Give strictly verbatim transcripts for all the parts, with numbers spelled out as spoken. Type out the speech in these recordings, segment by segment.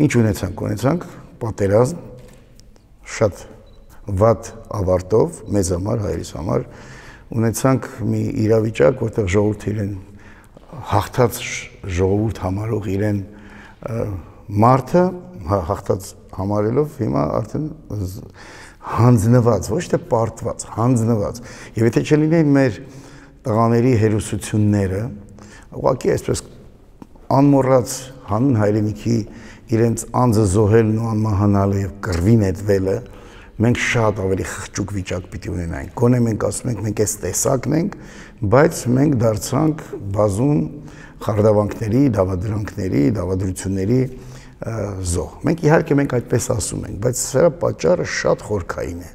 Ինչ ունեցանք, ունեցանք պատերազմ, շատ վատ ավարտով, մեզ համար, հայերիս համար, ունեցանք մի իրավիճակ, որտեղ ժողովուրդը իրեն հաղթած ժողովուրդ համարող իրեն մարդը հաղթած համարելով հիմա արդեն հանձնված, ոչ թե պարտված, հանձնված։ Եվ եթե չլինեին մեր տղաների հերոսությունները, ուղղակի այսպես անմոռաց հանուն հայրենիքի իրենց անձը զոհելն ու անմահանալը եւ կռվի նետվելը, մենք շատ ավելի խղճուկ վիճակ պիտի ունենայինք։ Գոնե մենք ասում ենք, մենք այս տեսակն ենք, բայց մենք դարձանք բազում խարդավանքների, դավադրանքների, դավադրությունների զոհ։ Մենք իհարկե մենք այդպես ասում ենք, բայց սրա պատճառը շատ խորքային է,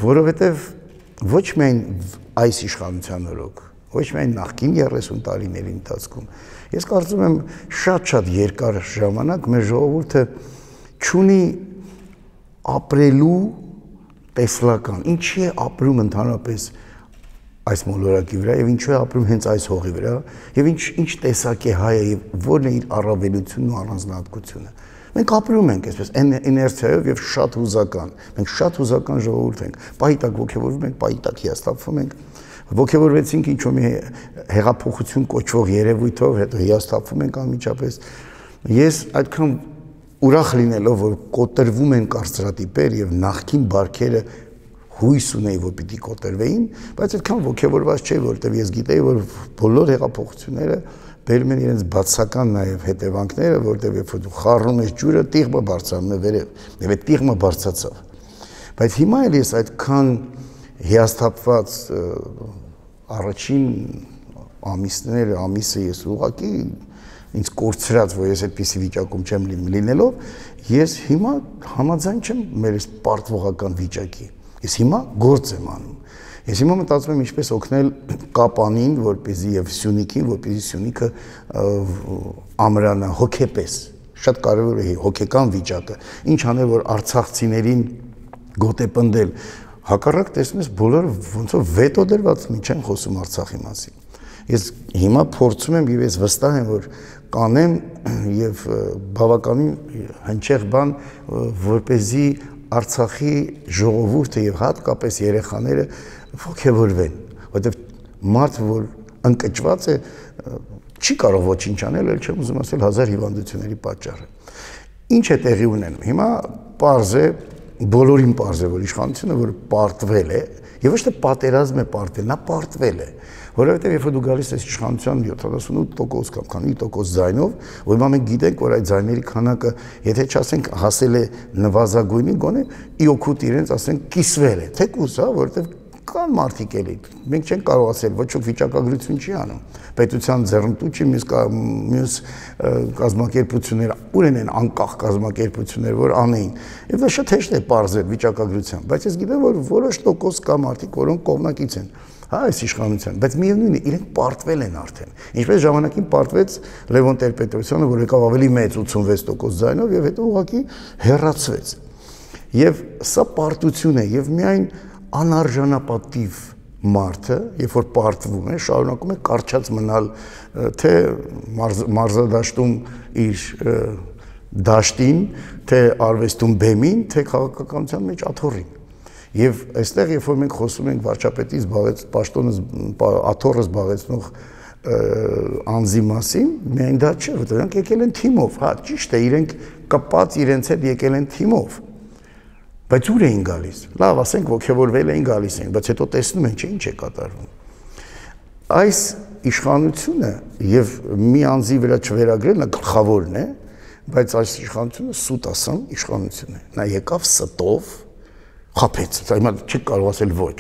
որովհետև ոչ միայն այս իշխանության օրոք, ոչ միայն նախկին երեսուն տարիների ընթացքում, ես կարծում եմ շատ-շատ երկար ժամանակ մեր ժողովուրդը չունի ապրելու տեսլական, ինչի է ապրում ընդհանրապես այս մոլորակի վրա եւ ինչու է ապրում հենց այս հողի վրա եւ ինչ ինչ տեսակ է հայը եւ որն է իր առավելությունն ու առանձնահատկությունը։ Մենք ապրում ենք այսպես իներցիայով եւ շատ հուզական։ Մենք շատ հուզական ժողովուրդ ենք։ Պահիտակ ոգևորվում ենք, պահիտակ հիասթափվում ենք։ Ոգևորվեցինք ինչ-որ մի հեղափոխություն կոչվող երևույթով, հետո հիասթափվում ենք անմիջապես։ Ես այդքան ուրախ լինելով, որ կոտրվում են կարծրատիպեր եւ նախքին բարքերը հույս ունեի, որ պիտի կոտրվեին, բայց այդքան ոգևորված չէի, որովհետև ես գիտեի, որ բոլոր հեղափոխությունները բերում են իրենց բացական նաև հետևանքները, որովհետև երբ որ դու խառնում ես ջուրը, տիղմը բարձրանում է վերև, եւ այդ տիղմը բարձրացավ։ Բայց հիմա էլ ես այդքան հիասթափված առաջին ամիսները, ամիսը ես ուղղակի ինձ կորցրած, որ ես այդպիսի վիճակում չեմ լինելով, ես հիմա համաձայն չեմ մեր այս պարտվողական վիճակի։ Ես հիմա գործ եմ անում։ Ես հիմա մտածում եմ ինչպես օգնել Կապանին, որպեսզի եւ Սյունիքին, որպեսզի Սյունիքը ամրանա հոգեպես։ Շատ կարևոր է հոգեկան վիճակը։ Ինչ անել, որ արցախցիներին գոտեպնդել։ Հակառակ տեսնում ես բոլորը ոնց որ վետո դրված մի չեն խոսում Արցախի մասին։ Ես հիմա փորձում եմ եւ ես վստահ եմ, որ կանեմ եւ բավականին հնչեղ բան, որպեսզի Արցախի ժողովուրդը եւ հատկապես երեխաները ոգևորվեն, որովհետեւ մարդ, որ ընկճված է, չի կարող ոչինչ անել, էլ չեմ ուզում ասել հազար հիվանդությունների պատճառը։ Ինչ է տեղի ունենում։ Հիմա պարզ է, բոլորին պարզ է, որ իշխանությունը, որ պարտվել է, եւ ոչ թե պատերազմ է պարտվել, նա պարտվել է, որովհետեւ երբ դու գալիս ես իշխանության յոթանասունութ տոկոս կամ քանի տոկոս ձայնով, որ մենք գիտենք, որ այդ ձայների քանակը, եթե չասենք հասել է նվազագույնի, գոնե ի օգուտ իրենց ասենք կիսվել է, թեկուզ, հա, որովհետեւ կան մարդիկ էլի, մենք չենք կարող ասել, ոչ ոք վիճակագրություն չի անում, պետության ձեռնտու չի, մյուս մյուս կազմակերպությունները, ուր են անկախ կազմակերպություններ, որ անեին, եւ դա շատ հեշտ է պարզել վիճակագրությամբ, բայց ես գիտեմ, որ որոշ տոկոս կա մարդիկ, որոնք կողմնակից են հա այս իշխանության, բայց միևնույն է, իրենք պարտվել են արդեն։ Ինչպես ժամանակին պարտվեց Լևոն Տեր-Պետրոսյանը, որ եկավ ավելի մեծ ութսունվեց տոկոս ձայնով եւ հետո ուղղակի հեռացվեց։ Եվ սա պարտություն է եւ միայն անարժանապատիվ մարդը, երբ որ պարտվում է, շարունակում է կարճած մնալ թե մարզադաշտում իր դաշտին, թե արվեստում բեմին, թե քաղաքականության մեջ աթոռին։ Եվ այստեղ երբ որ մենք խոսում ենք վարչապետի զբաղեց պաշտոնը աթոռը զբաղեցնող անձի մասին, միայն դա չէ, որ նրանք եկել են թիմով, հա, ճիշտ է, իրենք կպած իրենց հետ եկել են թիմով։ Բայց ուր էին գալիս։ Լավ, ասենք ոգևորվել էին գալիս էին, բայց հետո տեսնում են, չէ, ինչ է կատարվում։ Այս իշխանությունը եւ մի անձի վրա չվերագրելն գլխավորն է, բայց այս իշխանությունը սուտ ասեմ իշխանություն է։ Նա եկավ ստով խափեց, հիմա չի կարող ասել ոչ։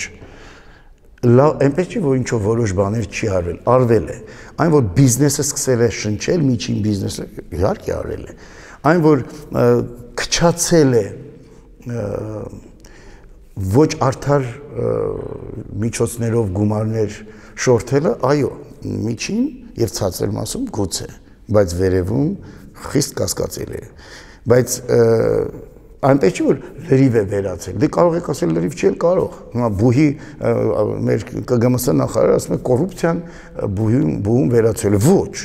Լավ, այնպես չի, որ ինչ-որ որոշ բաներ չի արվել, արվել է։ Այն, որ բիզնեսը սկսել է շնչել, միջին բիզնեսը իհարկե արվել է։ Այն, որ քչացել է ոչ արդար միջոցներով գումարներ շորթելը, այո, միջին եւ ցածր մասում գուցե, բայց վերևում խիստ կասկածելի է։ Բայց այնպես չի, որ լրիվ է վերացել։ Դե կարող եք ասել լրիվ չի կարող։ Հիմա բուհի մեր ԿԳՄՍ նախարարը ասում է կոռուպցիան բուհում բուհում վերացել է։ Ոչ,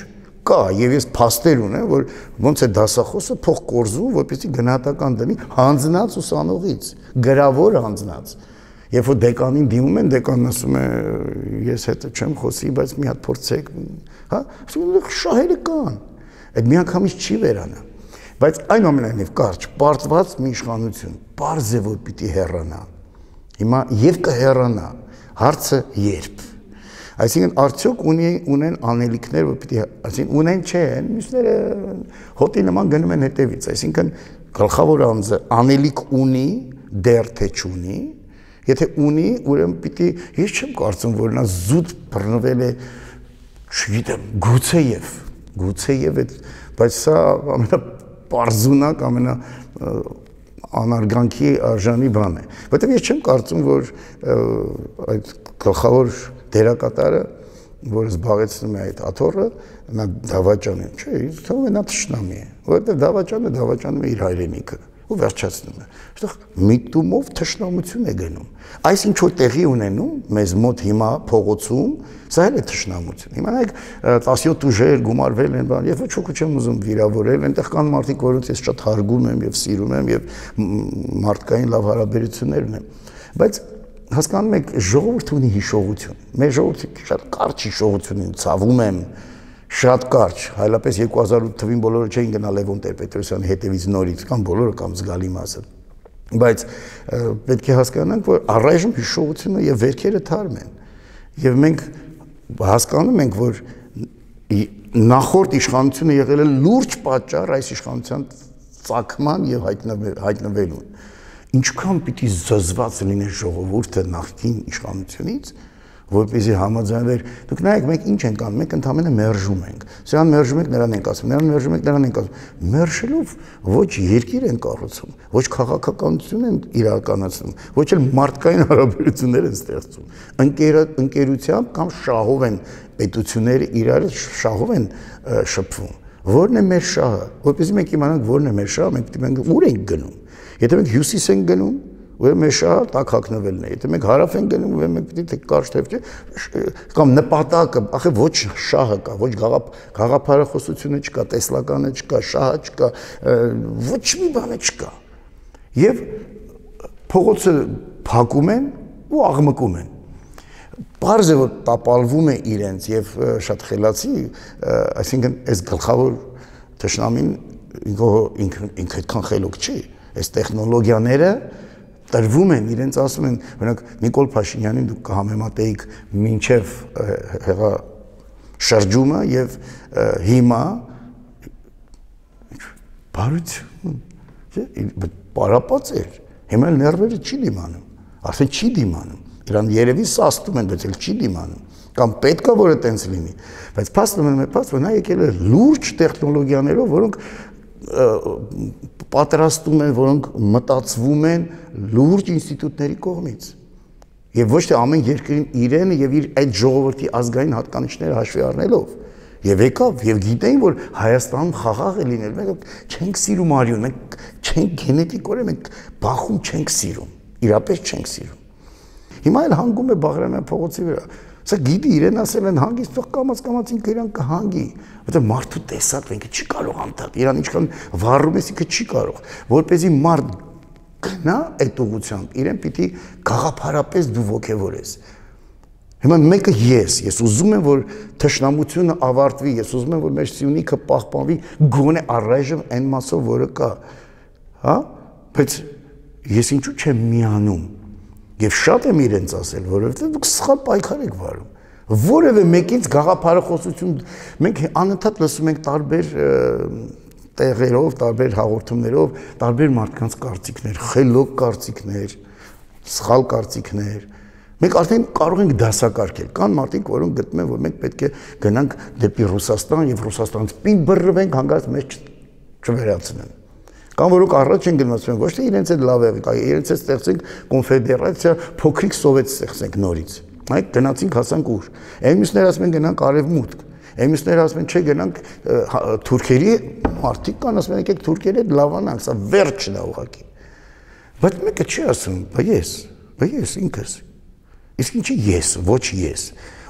կա եւ ես փաստեր ունեմ, որ ոնց է դասախոսը փող կորզում, որպեսզի գնահատական դնի հանձնած ուսանողից, գրավոր հանձնած։ Երբ որ դեկանին դիմում են, դեկանն ասում է ես հետը չեմ խոսի, բայց մի հատ փորձեք, հա, շահերը կան։ Այդ միանգամից չի վերանա։ Բայց այնուամենայնիվ կարճ, պարտված մի իշխանություն, պարզ է որ պիտի հեռանա։ Հիմա եւ կհեռանա, հարցը երբ։ Այսինքն արդյոք ունի ունեն անելիքներ, որ պիտի, այսինքն ունեն չեն, մյուսները հոտի նման գնում են հետևից, այսինքն գլխավոր անձը անելիք ունի, դեռ թե չունի, եթե ունի, ուրեմն պիտի, ես չեմ կարծում, որ նա զուտ բռնվել է, չգիտեմ, գուցեև, գուցեև այդ, բայց սա ամենապարզունակ, ամենա անարգանքի արժանի բան է, որտեղ ես չեմ կարծում, որ այդ գլխավոր դերակատարը, որը զբաղեցնում է այդ աթոռը, նա դավաճան է, չէ, թվում է նա թշնամի է, որովհետև դավաճանը դավաճանում է իր հայրենիքը ու վերջացնում է, այստեղ միտումով թշնամություն է գնում, այս ինչ որ տեղի ունենում մեզ մոտ հիմա փողոցում, սա էլ է թշնամություն, հիմա նայեք տասնյոթ ուժեր գումարվել են բան, ես ոչ ոքի չեմ ուզում վիրավորել, այնտեղ կան մարդիկ, որոնց ես շատ հարգում եմ եւ սիրում եմ եւ մարդկային լավ հարաբերություններ ունեմ, բայց հասկանում եք, ժողովուրդը ունի հիշողություն, մեր ժողովուրդը շատ կարճ հիշողություն ունի, ցավում եմ, շատ կարճ, հայլապես երկու հազար ութ թվին բոլորը չէին գնա Լևոն Տեր-Պետրոսյանի հետևից նորից, կամ բոլորը կամ զգալի մասը, բայց պետք է հասկանանք, որ առայժմ հիշողությունը եւ վերքերը թարմ են, եւ մենք հասկանում ենք, որ նախորդ իշխանությունը եղել է լուրջ պատճառ այս իշխանության ծագման եւ հայտնվելուն, ինչքան պիտի զզված լիներ ժողովուրդը նախկին իշխանությունից, որպեսզի համաձայնվեր, դուք նայեք, մենք ինչ ենք անում, մենք ընդհանրապես մերժում ենք, սրան մերժում ենք, նրան ենք ասում, նրան մերժում ենք, նրան ենք ասում, մերժելով ոչ երկիր են կառուցում, ոչ քաղաքականություն են իրականացնում, ոչ էլ մարդկային հարաբերություններ են ստեղծում, ընկերությամբ կամ շահով են պետությունները իրար շահով են շփվում, որն է մեր շահը, որպեսզի մենք իմանանք որն է մեր շահը, մենք պետք է ուր ենք գնում, եթե մենք հյուսիս ենք գնում, ուրեմն մեր շահը տակ հագնվելն է, եթե մենք հարավ ենք գնում, ուրեմն մենք պետք է կարճ թեփ կամ նպատակը, ախե ոչ շահը կա, ոչ գաղափարախոսությունը չկա, տեսլականը չկա, շահը չկա, ոչ մի բանը չկա։ Եվ փողոցը փակում են ու աղմկում են։ Պարզ է, որ տապալվում է իրենց եւ շատ խելացի, այսինքն այս գլխավոր թշնամին ինքը այդքան խելոք չի, այս տեխնոլոգիաները տրվում են, իրենց ասում են, օրինակ Նիկոլ Փաշինյանին դուք կհամեմատեիք մինչև հեղա շրջումը եւ հիմա բարություն, պարապած էր, հիմա ներվերը չի դիմանում, արդեն չի դիմանում, իրան երևի սաստում են, բայց էլ չի դիմանում, կամ պետք է որ այտենց լինի, բայց փաստը մնում է փաստ, որ նա եկել է լուրջ տեխնոլոգիաներով, որոնք պատրաստում են, որոնք մտածվում են լուրջ ինստիտուտների կողմից եւ ոչ թե ամեն երկրին իրեն եւ իր այդ ժողովրդի ազգային հատկանիշները հաշվի առնելով եւ եկավ եւ գիտեին, որ Հայաստանում խաղաղ է լինել, մենք չենք սիրում արյուն, մենք չենք գենետիկորեն մենք բախում չենք սիրում, իրապես չենք սիրում։ Հիմա էլ հանգում է Բաղրամյան փողոցի վրա։ Սա գիտի իրեն ասել են հանգիստ, թող կամաց-կամաց ինքը իրան կհանգի, որտեղ մարդու տեսակ ինքը չի կարող անդադ, իրան ինչքան վառում ես ինքը չի կարող, որպեսզի մարդ գնա այդ ուղղությամբ, իրեն պիտի գաղափարապես դու ոգևորես։ Հիմա մեկը ես, ես ուզում եմ, որ թշնամությունը ավարտվի, ես ուզում եմ, որ մեր սյունիքը պահպանվի, գոնե առայժմ այն մասով, որը կա, հա, բայց ես ինչու չեմ միանում։ Եվ շատ եմ իրենց ասել, որովհետև դուք սխալ պայքար եք վարում, որևէ մեկից գաղափարախոսություն, մենք անընդհատ լսում ենք տարբեր տեղերով, տարբեր հաղորդումներով, տարբեր մարդկանց կարծիքներ, խելոք կարծիքներ, սխալ կարծիքներ, մենք արդեն կարող ենք դասակարգել, կան մարդիկ, որոնք գտնում են, որ մենք պետք է գնանք դեպի Ռուսաստան եւ Ռուսաստանից պին բռնվենք, հանգարց մեզ չվերացնեն։ Կամ որոնք առաջ են գնացել, ոչ թե իրենց այդ լավ եղեք, իրենց հետ ստեղծենք կոնֆեդերացիա, փոքրիկ սովետ ստեղծենք նորից։ Այ գնացինք հասանք ուր։ Էմիսներ ասում են գնանք արևմուտք։ Էմիսներ ասում են չէ գնանք թուրքերի մարդիկ կան ասում են եկեք թուրքերի հետ լավանանք, սա վերջն է ուղղակի։ Բայց մեկը չի ասում, բա ես, բա ես ինքս։ Իսկ ինչի ես, ոչ ես։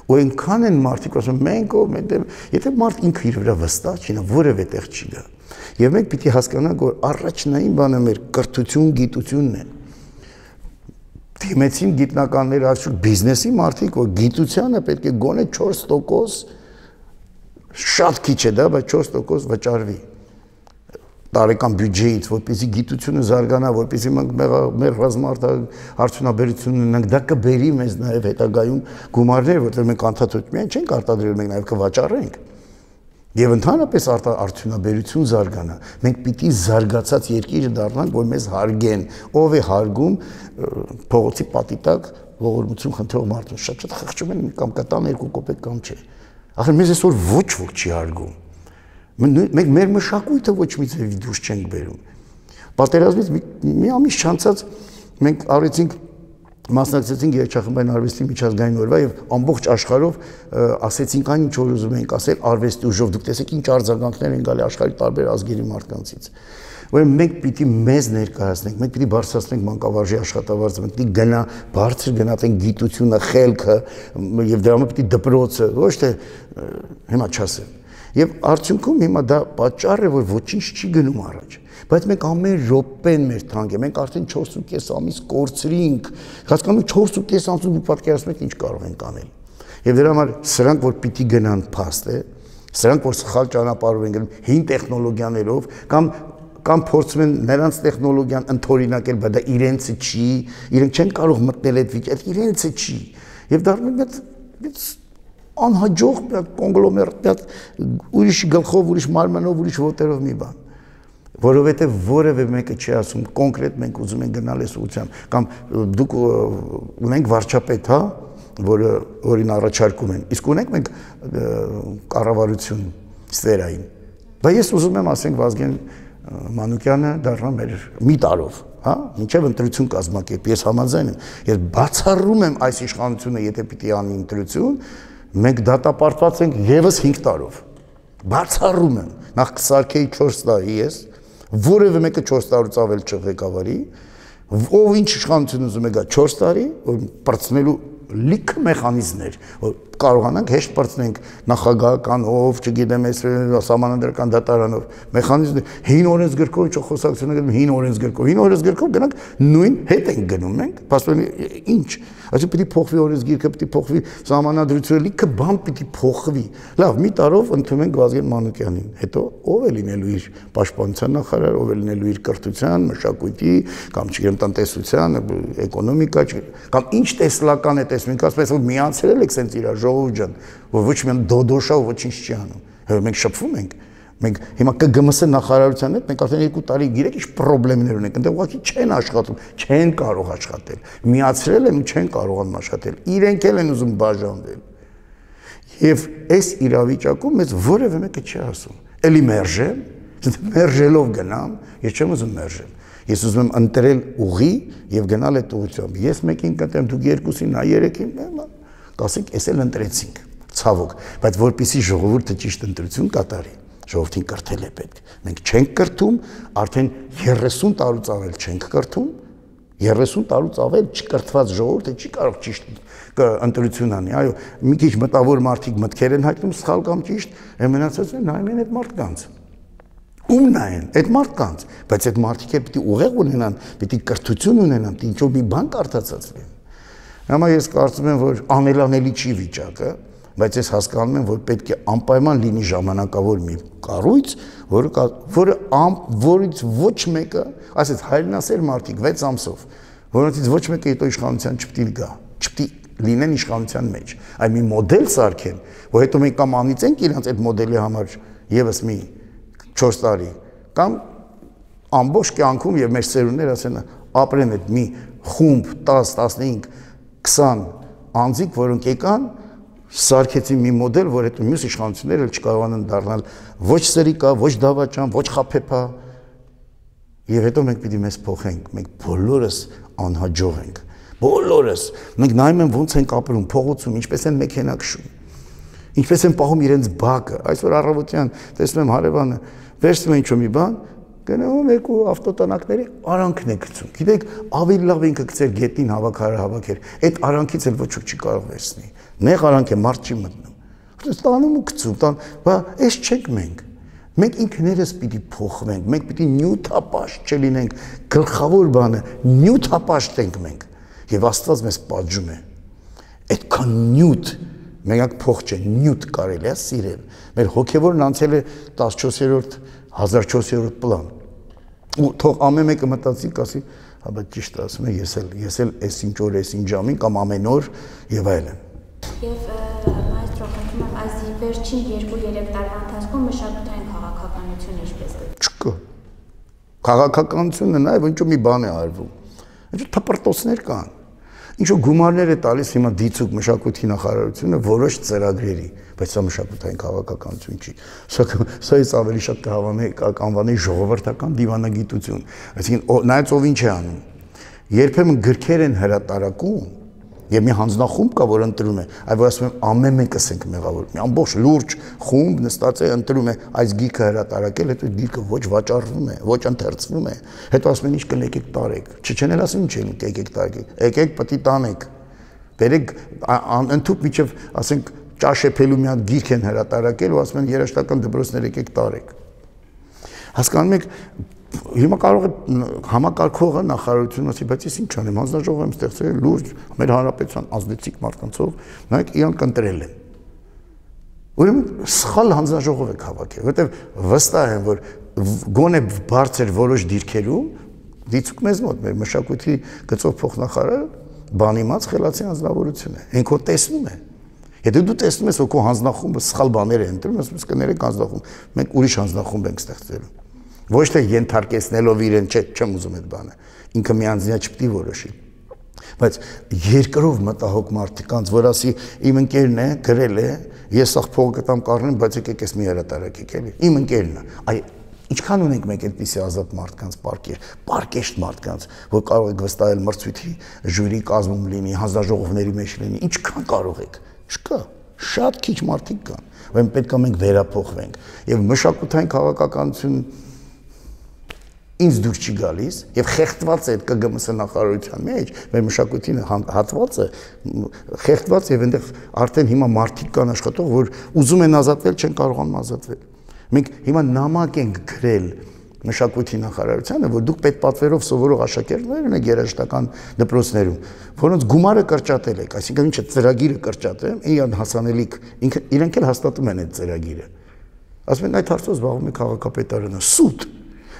Ու այնքան են մարդիկ ասում մենք ով մենք եթե մարդ ինքը իր վրա վստահ չի, նա որևէ տեղ չի գա։ Եվ մենք պիտի հասկանանք, որ առաջնային բանը մեր կրթություն, գիտությունն է։ Դիմեցին գիտնականները, այսօր բիզնեսի մարդիկ, որ գիտությանը պետք է գոնե չորս տոկոս շատ քիչ է դա, բայց չորս տոկոս վճարվի տարեկան բյուջեից, որպեսզի գիտությունը զարգանա, որպեսզի մենք մեր ռազմարտահարցությունաբերությունն ունենք, դա կբերի մեզ նաև հետագայում գումարներ, որտեղ մենք անդադար միայն չենք արտադրել, մենք նաև կվաճառենք։ Եվ ընդհանրապես արդյունաբերություն զարգանա։ Մենք պիտի զարգացած երկիր դառնանք, որ մեզ հարգեն։ Ով է հարգում փողոցի պատի տակ ողորմություն խնդրող մարդուն, շատ-շատ խղճում են կամ կտան երկու կոպեկ կամ չէ։ Ախր մեզ այսօր ոչ ոք չի հարգում։ Մենք մեր մշակույթը ոչ մի ձևի դուրս չենք բերում։ Պատերազմից մի ամիս չանցած մենք արեցինք մասնակցեցինք երգչախմբային արվեստի միջազգային օրվա եւ ամբողջ աշխարհով ասեցինք այն ինչ որ ուզում ենք ասել արվեստի ուժով դուք տեսեք ինչ արձագանքներ են գալի աշխարհի տարբեր ազգերի մարդկանցից ուրեմն մենք պիտի մեզ ներկայացնենք մենք պիտի բարձրացնենք մանկավարժի աշխատավարձը մենք պիտի գնա բարձր գնահատենք գիտությունը խելքը եւ դրա համար պիտի դպրոցը ոչ թե հիմա չասեմ եւ արդյունքում հիմա դա պատճառ է որ ոչինչ չի գնում առաջ բայց մենք ամեն րոպեն մեր թանկ է մենք արդեն չորս ու կես ամիս կորցրինք հասկանում չորս ու կես ամսում դուք պատկերացնում եք ինչ կարող ենք անել եւ դրա համար սրանք որ պիտի գնան փաստ է սրանք որ սխալ ճանապարհով են գնում հին տեխնոլոգիաներով կամ կամ փորձում են նրանց տեխնոլոգիան ընդօրինակել բայց դա իրենցը չի իրենք չեն կարող մտնել այդ վիճակը իրենցը չի եւ դառնում է այդ անհաջող կոնգլոմերատ ուրիշ գլխով ուրիշ մարմնով ուրիշ ոտերով մի բան որովհետև որևէ մեկը չի ասում կոնկրետ մենք ուզում ենք գնալ այս ուղղությամբ կամ դուք ունենք վարչապետ հա որը որին առաջարկում են իսկ ունենք մենք կառավարություն սֆերային բայց ես ուզում եմ ասենք Վազգեն Մանուկյանը դառնա մեր մի տարով հա ինչեւ ընտրություն կազմակերպի ես համաձայն եմ ես բացառում եմ այս իշխանությունը եթե պիտի անի ընտրություն մենք դատապարտված ենք եւս հինգ տարով բացառում եմ նախ կսարքեի չորս տարի ես որևէ մեկը չորս տարուց ավել չղեկավարի ով ինչ իշխանություն ուզում է գա չորս տարի որ բրցնելու լիքը մեխանիզմներ որ կարողանանք հեշտ բրցնենք նախագահականով, չգիտեմ, այս սահմանադրական դատարանով մեխանիզմներ հին օրենսգրքով ինչ խոսակցություն ենք հին օրենսգրքով հին օրենսգրքով գնանք նույն հետ ենք գնում մենք փաստորեն ինչ այսինքն պիտի փոխվի օրենսգիրքը պիտի փոխվի սահմանադրությունը լիքը բան պիտի փոխվի լավ մի տարով ընդունում ենք Վազգեն Մանուկյանին հետո ով է լինելու իր պաշտպանության նախարար ով է լինելու իր կրթության մշակույթի կամ չգիտեմ տնտեսության էկոնոմիկա կամ ինչ տեսլական է տեսնում ասես որ միացրել եք սենց իր ժողովուրդ ջան որ ոչ մի դոդոշա ու ոչինչ չի անում հա մենք շփվում ենք մենք հիմա ԿԳՄՍ նախարարության հետ մենք արդեն երկու տարի գիտեք ինչ խնդիրներ ունենք այնտեղ ուղղակի չեն աշխատում չեն կարող աշխատել միացրել են ու չեն կարողանում աշխատել իրենք էլ են ուզում բաժանվել եւ այս իրավիճակում մեզ որևէ մեկը չի ասում էլի մերժեմ մերժելով գնամ ես չեմ ուզում մերժել ես ուզում եմ ընտրել ուղի եւ գնալ այդ ուղղությամբ ես մեկին կտեմ դուք երկուսին նա երեքին կասենք էս էլ ընտրեցինք ցավոք բայց որպեսի ժողովուրդը ճիշտ ընտրություն կատարի ժողովրդին կրթել է պետք մենք չենք կրթում արդեն երեսուն տարուց ավել չենք կրթում երեսուն տարուց ավել չկրթված ժողովուրդը չի կարող ճիշտ ընտրություն անի այո մի քիչ մտավոր մարդիկ մտքեր են հայտնում սխալ կամ ճիշտ մնացածը նայում են այդ մարդկանց ում նայեն այդ մարդկանց բայց այդ մարդիկ էլ պիտի ուղեղ ունենան պիտի կրթություն ունենան պիտի ինչ-որ մի բան կարդացածվեն Հիմա ես կարծում եմ, որ անելանելի չի վիճակը, բայց ես հասկանում եմ, որ պետք է անպայման լինի ժամանակավոր մի կառույց, որը որը որից ոչ մեկը, ասես հայրենասեր մարդիկ վեց ամսով, որոնցից ոչ մեկը հետո իշխանության չպետք է գա, չպետք լինեն իշխանության մեջ, այլ մի մոդել սարքեն, որ հետո մենք կամ անիծենք իրենց այդ մոդելի համար եւս մի չորս տարի, կամ ամբողջ կյանքում եւ մեր ծերուններ ասեն ապրեն այդ մի խումբ տաս, տասնհինգ քսան անձիկ, որոնք եկան, սարքեցին մի մոդել, որ հետո մյուս իշխանությունները չկարողանան դառնալ ոչ սրիկա, ոչ դավաճան, ոչ խափեփա, եւ հետո մենք պիտի մեզ փոխենք, մենք բոլորս անհաջող ենք, բոլորս, մենք նայում ենք ոնց ենք ապրում, փողոցում, ինչպես են մեքենա քշում, ինչպես են պահում իրենց բակը, այսօր առավոտյան տեսնում եմ հարևանը, վերցնում է ինչ-որ մի բան, գնում եք ու ավտոտնակների արանքն է գցում։ Գիտեք, ավելի լավ ինքը գցեր գետնին հավաքարը հավաքեր։ Այդ արանքից էլ ոչ ոք չի կարող վերցնի։ Նեղ արանք է, մարդ չի մտնում։ Որտե՞ղ տանում ու գցում, տան, բա էս չենք մենք։ Մենք ինքներս պիտի փոխվենք, մենք պիտի նյութապաշտ չլինենք, գլխավոր բանը նյութապաշտ ենք մենք։ Եվ Աստված մեզ պատժում է։ Այդքան նյութ, մենակ փող չէ, նյութ կարելի է սիրել։ Մեր հոգևորն անցել է տասնչորսերորդ, հազար չորսերորդ պլան։ Ու թող ամեն մեկը մտածի, ասի, հա բայց ճիշտ ասում է, ես էլ, ես էլ այսինչ օր, այսինչ ժամին կամ ամեն օր եւ այլն։ Եվ մայստրո, խնդրում եմ, այս վերջին երկու-երեք տարվա ընթացքում մշակութային քաղաքականությունը ինչպես կը։ Չկա։ Քաղաքականությունը նաեւ ինչ-որ մի բան է արվում։ Ինչ-որ թպրտոցներ կան։ Ինչ-որ գումարներ է տալիս հիմա դիցուկ մշակույթի նախարարությունը որոշ ծրագրերի, բայց սա մշակութային քաղաքականություն չի։ Սա սայից ավելի շատ կհավանե կանվանի ժողովրդական դիվանագիտություն։ Այսինքն նայած ով ինչ է անում։ Երբեմն գրքեր են հրատարակում եւ մի հանձնախումբ կա, որ ընտրում է, այ որ ասում եմ ամեն մեկս ենք մեղավոր։ Մի ամբողջ լուրջ խումբ նստած է ընտրում է այս գիրքը հրատարակել, հետո գիրքը ոչ վաճառվում է, ոչ ընթերցվում է։ Հետո ասում են ինչ կլեք եք տարեք։ Չչեն էլ ասում ինչ եք եք տարեք։ Եկեք պետք է տանեք։ Բերեք ընդཐུպ միջև, ասենք, ճաշեփելու մի հատ գիրք են հրատարակել ու ասում են երաժշտական դպրոցներ եկեք տարեք։ Հասկանում եք, հիմա կարող է համակարգողը նախարարությունը ասի, բայց ես ինչ անեմ, հանձնաժողով եմ ստեղծել լուրջ մեր հանրապետության ազդեցիկ մարդկանցով, նայեք իրանք ընտրել են։ Ուրեմն սխալ հանձնաժողով եք հավաքել, որովհետև վստահ եմ, որ գոնե բարձր որոշ դիրքերում դիցուկ մեզ մոտ մեր մշակույթի գծով փոխնախարարը բանիմաց խելացի հանձնավորություն է։ Ինքո տեսնում է։ Եթե դու տեսնում ես, որ քո հանձնախումբը սխալ բաներ է ընտրում, ասում ես կներեք հանձնախումբ, մենք ուրիշ հանձնախումբ ենք ստեղծելու։ Ոչ թե ենթարկեցնելով իրեն, չէ, չեմ ուզում այդ բանը։ Ինքը միանձնյա չպետք է որոշի։ Բայց երկրով մտահոգ մարդկանց, որ ասի իմ ընկերն է, գրել է, ես ախ փող կտամ կառնեմ, բայց եկեք ես մի հրատարակեք էլի։ Իմ ընկերն է։ Այ ինչքան ունենք մենք այդպիսի ազատ մարդկանց պարկեր, պարկեշտ մարդկանց, որ կարող եք վստահել մրցույթի ժյուրի կազմում լինի, հանձնաժողովների մեջ լինի, ինչքան կարող եք։ Չկա, շատ քիչ մարդիկ կան, որ պետք է մենք վերափոխվենք։ Եվ մշակութային քաղաքականություն ինձ դուր չի գալիս եւ խեղդված է Կ Գ M S նախարարության մեջ, մեր մշակույթի հատվածը խեղդված եւ այնտեղ արդեն հիմա մարդիկ կան աշխատող, որ ուզում են ազատվել, չեն կարողանում ազատվել։ Մենք հիմա նամակ ենք գրել մշակույթի նախարարությանը, որ դուք պետպատվերով սովորող աշակերտներ ունեք երաժշտական դպրոցներում, որոնց գումարը կրճատել եք, այսինքն ինչը ծրագիրը կրճատել, իրան հասանելիք, ինքը իրենք էլ հաստատում են այդ ծրագիրը։ Ասում են այդ հարցով զբաղվում է քաղաքապետարանը, սուտ։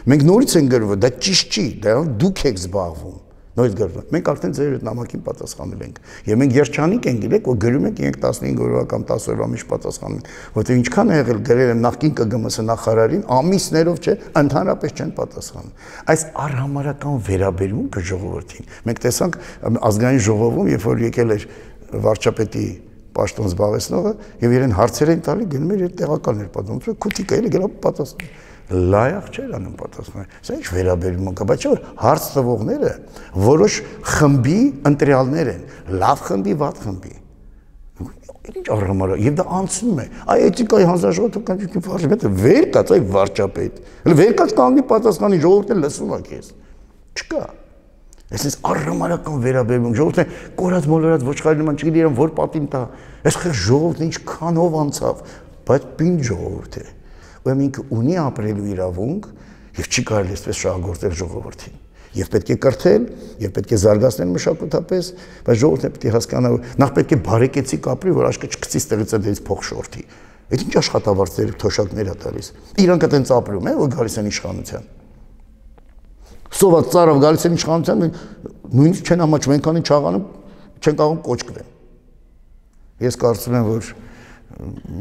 Մենք նորից են գրվում, դա ճիշտ չի, դա դուք եք զբաղվում։ Նորից գրվում։ Մենք արդեն ձեր այդ նամակին պատասխանել ենք։ Եվ մենք երջանիկ ենք գիտեք, որ գրում ենք իրենք տասնհինգ օրվա կամ տասը օրվա մեջ պատասխանում են, որտեղ ինչքան է եղել գրել եմ նախկին Կ Գ M S նախարարին, ամիսներով չէ, ընդհանրապես չեն պատասխանում։ Այս առհամարական վերաբերմունքը ժողովրդին։ Մենք տեսանք ազգային ժողովում, երբ որ եկել էր վարչապետի պաշտոն զբաղեցնողը, եւ իրեն հարցեր են տալի, գնում էր իր տեղակալներ պատասխանում, քուտիկա էլի գնա պատասխանում։ Լայախ չէր անում պատասխանել։ Սա ինչ վերաբերում կա, բայց չէ՞ որ հարց տվողները որոշ խմբի ընտրյալներ են, լավ խմբի, վատ խմբի։ Ինչ առհամարը, եւ դա անցնում է։ Այ էթիկայի հանձնաժողովը կանչի վարչապետը վեր կաց, այ վարչապետ։ Հələ վեր կաց կանգնի պատասխանի, ժողովուրդը լսում է քեզ։ Չկա։ Այսինքն առհամարական վերաբերում, ժողովուրդը կորած մոլորած ոչխարի նման չգիտի իրեն որ պատին տա։ Այս խեղ ժողովուրդը ինչքանով անցավ, բայց պին ժողովուրդ է։ Ուրեմն ինքը ունի ապրելու իրավունք եւ չի կարելի այսպես շահագործել ժողովրդին։ Եվ պետք է կրթել, եւ պետք է զարգացնել մշակութապես, բայց ժողովուրդը պետք է հասկանա, որ նախ պետք է բարեկեցիկ ապրի, որ աշկը չգցի ստեղից այդից փող շորթի։ Այդ ինչ աշխատավարձեր թոշակներ է տալիս։ Իրանք այտենց ապրում են, որ գալիս են իշխանության։ Սոված ծարավ գալիս են իշխանության, նույնիսկ չեն ամաչում, այնքանի չաղանում, չեն կարող կոչկվեն։ Ես կարծում եմ, որ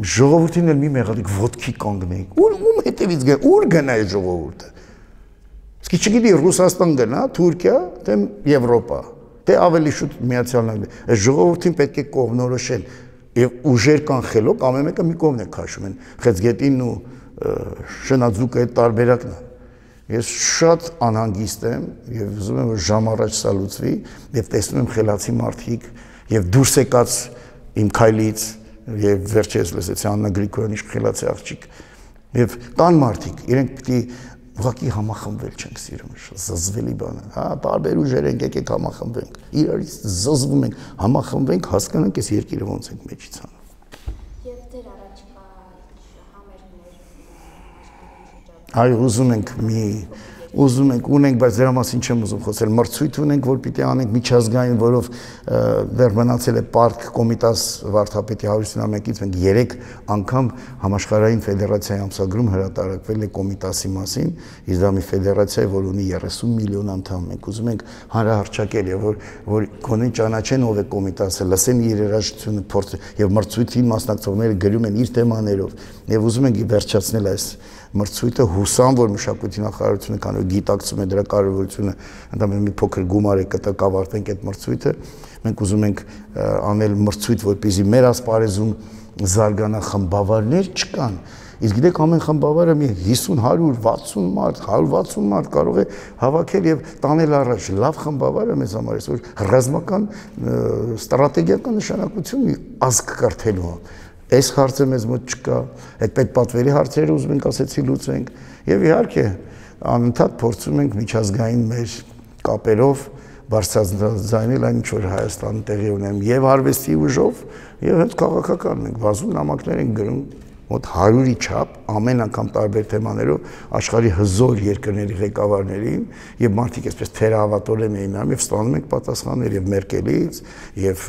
ժողովրդին էլ մի մեղադիկ ոտքի կանգնեիք։ Ուր ում հետևից գա, ուր գնա այդ ժողովուրդը։ Իսկ չգիտի Ռուսաստան գնա, Թուրքիա, թե Եվրոպա, թե ավելի շուտ Միացյալ Նահանգներ։ Այս ժողովրդին պետք է կողմնորոշել եւ ուժեր կանխելով ամեն մեկը մի կողմ է քաշում են։ Խեցգետինն ու շնաձուկը այդ տարբերակն է։ Ես շատ անհանգիստ եմ եւ ուզում եմ որ ժամ առաջ սա լուծվի եւ տեսնում եմ խելացի մարդիկ եւ դուրս եկած իմ քայլից եւ վերջերս լսեցի Աննա Գրիգորյանի խելացի աղջիկ եւ կան մարդիկ իրենք պիտի ուղղակի համախմբվել չենք սիրում, զզվելի բան է։ Հա, տարբեր ուժեր ենք, եկեք համախմբվենք։ Իրարից զզվում ենք, համախմբվենք, հասկանանք այս երկիրը ոնց ենք մեջից անում։ Եվ դեր առաջիկա համերգներ աշխարհի շրջանում։ Այո, ուզում ենք մի ուզում ենք ունենք, բայց դրա մասին չեմ ուզում խոսել։ Մրցույթ ունենք, որ պիտի անենք միջազգային, որով դեռ մնացել է Պարկ Կոմիտաս վարդապետի հարյուրից մեկից մենք երեք անգամ համաշխարհային ֆեդերացիայի ամսագրում հրատարակվել է Կոմիտասի մասին, իսկ դա մի ֆեդերացիա է, որ ունի երեսուն միլիոն անդամ։ Մենք ուզում ենք հանրահռչակել եւ որ որ գոնե ճանաչեն ով է Կոմիտասը, լսեն իր երաժշտությունը, փորձ եւ մրցույթին մասնակցողները գրում են իր թեմաներով եւ ուզում ենք վերջացնել այս մրցույթը հուսամ, որ մշակույթի նախարարությունը քանի գիտակցում է դրա կարևորությունը, ընդամենը մի փոքր գումար է կտա կավարտենք այդ մրցույթը, մենք ուզում ենք անել մրցույթ, որպեսզի մեր ասպարեզում զարգանա խմբավարներ չկան, իսկ գիտեք ամեն խմբավարը մի հիսուն, հարյուր, վաթսուն մարդ, հարյուր վաթսուն մարդ կարող է հավաքել եւ տանել առաջ, լավ խմբավարը մեզ համար է, որ ռազմական ստրատեգիական նշանակություն մի ազգ կրթելու Այս հարցը մեզ մոտ չկա, այդ պետպատվերի հարցերը ուզում ենք ասեցի լուծենք եւ իհարկե անընդհատ փորձում ենք միջազգային մեր կապերով բարձրաձայնել այն ինչ որ Հայաստանը տեղի ունեն եւ արվեստի ուժով եւ հենց քաղաքական ենք բազում նամակներ ենք գրում մոտ հարյուրի չափ ամեն անգամ տարբեր թեմաներով աշխարհի հզոր երկրների ղեկավարներին եւ մարդիկ այսպես թերահավատորեն էին անում եւ ստանում ենք պատասխաններ եւ Մերկելից եւ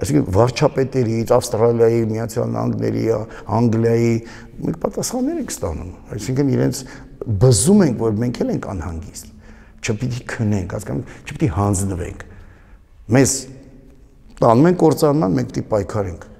այսինքն վարչապետերից Ավստրալիայի, Միացյալ Նահանգների, Անգլիայի մենք պատասխաններ ենք ստանում այսինքն իրենց բզում ենք որ մենք էլ ենք անհանգիստ չպիտի քնենք հասկանում չպիտի հանձնվենք մեզ տանում են կործանման մենք պիտի պայքարենք